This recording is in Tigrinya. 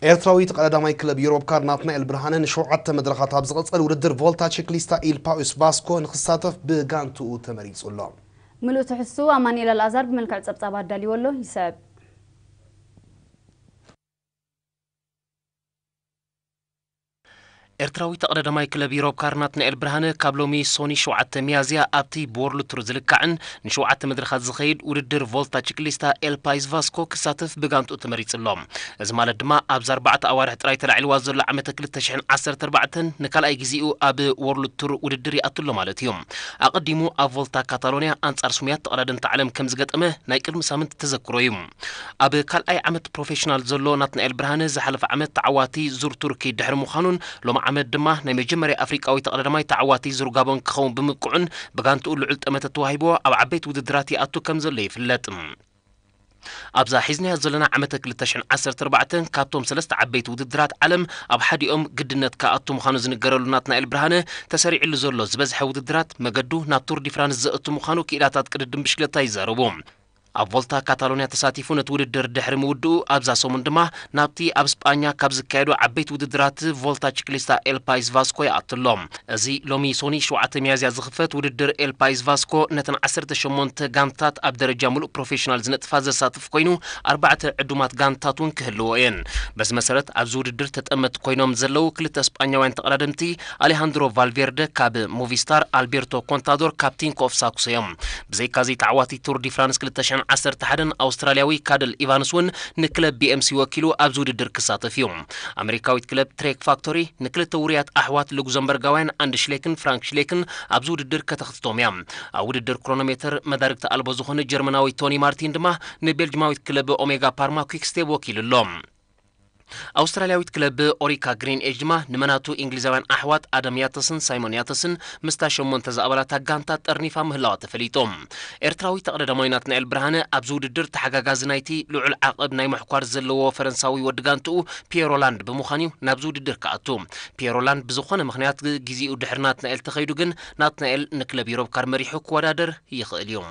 ኤርትራዊ ተቐዳዳማይ ክለብ ዩሮፕ ካር ናትናኤል ብርሃነ ንሸውዓተ መድረኻት ኣብ ዝቐጸል ውድድር ቮልታ ቺክሊስታ ኢል ፓኡስ ቫስኮ ንኽሳተፍ ብጋንትኡ ተመሪጹ ኣሎ። ምሉእ ትሕዝትኡ ኣማኑኤል ኣልኣዛር ብመልክዕ ጸብጻብ ኣዳልዎ ኣሎ። ይስዕብ። ኤርትራዊ ተቐዳዳማይ ክለብ ዩሮፕ ካር ናትናኤል ብርሃነ ካብ ሎሚ ሶኒ ሸውዓተ ሚያዝያ ኣብቲ ብወርልድ ቱር ዝልካዕን ንሸውዓተ መድረኻት ዝኸይድ ውድድር ቮልታ ቺክሊስታ ኤል ፓይስ ቫስኮ ክሳተፍ ብጋንትኡ ተመሪጹ ኣሎ። እዚ ማለት ድማ ኣብዚ ኣርባዕተ ኣዋርሕ ጥራይ ተላዒልዋ ዘሎ ዓመተ ክልተ ሽሕን ዓሰርተ ኣርባዕተን ንካልኣይ ግዜኡ ኣብ ወርልድ ቱር ውድድር ይኣቱ ኣሎ ማለት እዩ። ኣቐዲሙ ኣብ ቮልታ ካታሎንያ ኣንጻር ስሙያት ተቐዳደምቲ ዓለም ከም ዝገጠመ ናይ ቅድሚ ሳምንት ተዘክሮ እዩ። ኣብ ካልኣይ ዓመት ፕሮፌሽናል ዘሎ ናትናኤል ብርሃነ ዝሓለፈ ዓመት ተዓዋቲ ዙር ቱርኪ ድሕሪ ምዃኑን ሎሚ ዓመት ድማ ናይ መጀመርያ ኣፍሪቃዊ ተቐዳዳማይ ተዓዋቲ ዙር ጋቦን ክኸውን ብምብቅዑን ብጋንትኡ ልዑል ጠመተ ተዋሂብዎ ኣብ ዓበይቲ ውድድራት ይኣቱ ከም ዘሎ ይፍለጥ። ኣብዛ ሒዝናዮ ዘለና ዓመተ ክልተ ሽሕን ዓሰርተ ኣርባዕተን ካብቶም ሰለስተ ዓበይቲ ውድድራት ዓለም ኣብ ሓዲኦም ግድነት ክኣቱ ምዃኑ ዝንገረሉ ናትናኤል ብርሃነ ተሰሪዕሉ ዘሎ ዝበዝሐ ውድድራት መገዱ ናብ ቱር ዲ ፍራንስ ዘእቱ ምዃኑ ክኢላታት ቅድድም ብሽክለታ ይዛረቡ። ኣብ ቮልታ ካታሎንያ ተሳቲፉ ነቲ ውድድር ድሕሪ ምውድኡ ኣብዛ ሰሙን ድማ ናብቲ ኣብ ስጳኛ ካብ ዝካየዱ ዓበይቲ ውድድራት ቮልታ ቺክሊስታ ኤል ፓይስ ቫስኮ ይኣቱ ኣሎ። እዚ ሎሚ ሶኒ ሸውዓተ ሚያዝያ ዝኽፈት ውድድር ኤል ፓይስ ቫስኮ ነተን ዓሰርተ ሸሞንተ ጋንታት ኣብ ደረጃ ሙሉእ ፕሮፌሽናል ዝነጥፋ ዘሳትፍ ኮይኑ ኣርባዕተ ዕዱማት ጋንታት እውን ክህልዎ እየን። በዚ መሰረት ኣብዚ ውድድር ተጠመት ኮይኖም ዘለዉ ክልተ ስጳኛውያን ተቐዳደምቲ ኣሌሃንድሮ ቫልቬርደ ካብ ሞቪስታር፣ ኣልቤርቶ ኮንታዶር ካብ ቲንኮ ኦፍ ሳክሶ እዮም። ብዘይካዚ ተዓዋቲ ቱር ዲ ፍራንስ ክልተ ሽሕን ዓሰርተ ሓደን ኣውስትራልያዊ ካደል ኢቫንስ እውን ንክለብ ቢ ኤም ሲ ወኪሉ ኣብዚ ውድድር ክሳተፍ እዩ። ኣሜሪካዊት ክለብ ትሬክ ፋክቶሪ ንክልተ ውሩያት ኣሕዋት ሉክዘምበርጋውያን ኣንድ ሽሌክን ፍራንክ ሽሌክን ኣብዚ ውድድር ከተኽትቶም እያ። ኣብ ውድድር ክሮኖሜተር መዳርግቲ ኣልቦ ዝኾነ ጀርመናዊ ቶኒ ማርቲን ድማ ንቤልጅማዊት ክለብ ኦሜጋ ፓርማ ኲክስቴፕ ወኪሉ ኣሎ። ኣውስትራልያዊት ክለብ ኦሪካ ግሪን ኤጅ ድማ ንመናቱ እንግሊዛውያን ኣሕዋት ኣደም ያተስን ሳይሞን ያተስን ምስታ ሸሞንተ ዝኣባላታ ጋንታ ጠርኒፋ ምህላዋ ተፈሊጡ። ኤርትራዊ ተቐዳዳማይ ናትናኤል ብርሃነ ኣብዚ ውድድር ተሓጋጋዚ ናይቲ ልዑል ዓቐብ ናይ ምሕኳር ዘለዎ ፈረንሳዊ ወዲ ጋንትኡ ፒየሮ ላንድ ብምዃን እዩ ናብዚ ውድድር ክኣቱ። ፒየሮ ላንድ ብዝኾነ ምኽንያት ግ-፣ ግዜኡ ድሕሪ ናትናኤል ተኸይዱ ግን ናትናኤል ንክለብ ዩሮፕ ካር መሪሑ ክወዳደር ይኽእል እዩ።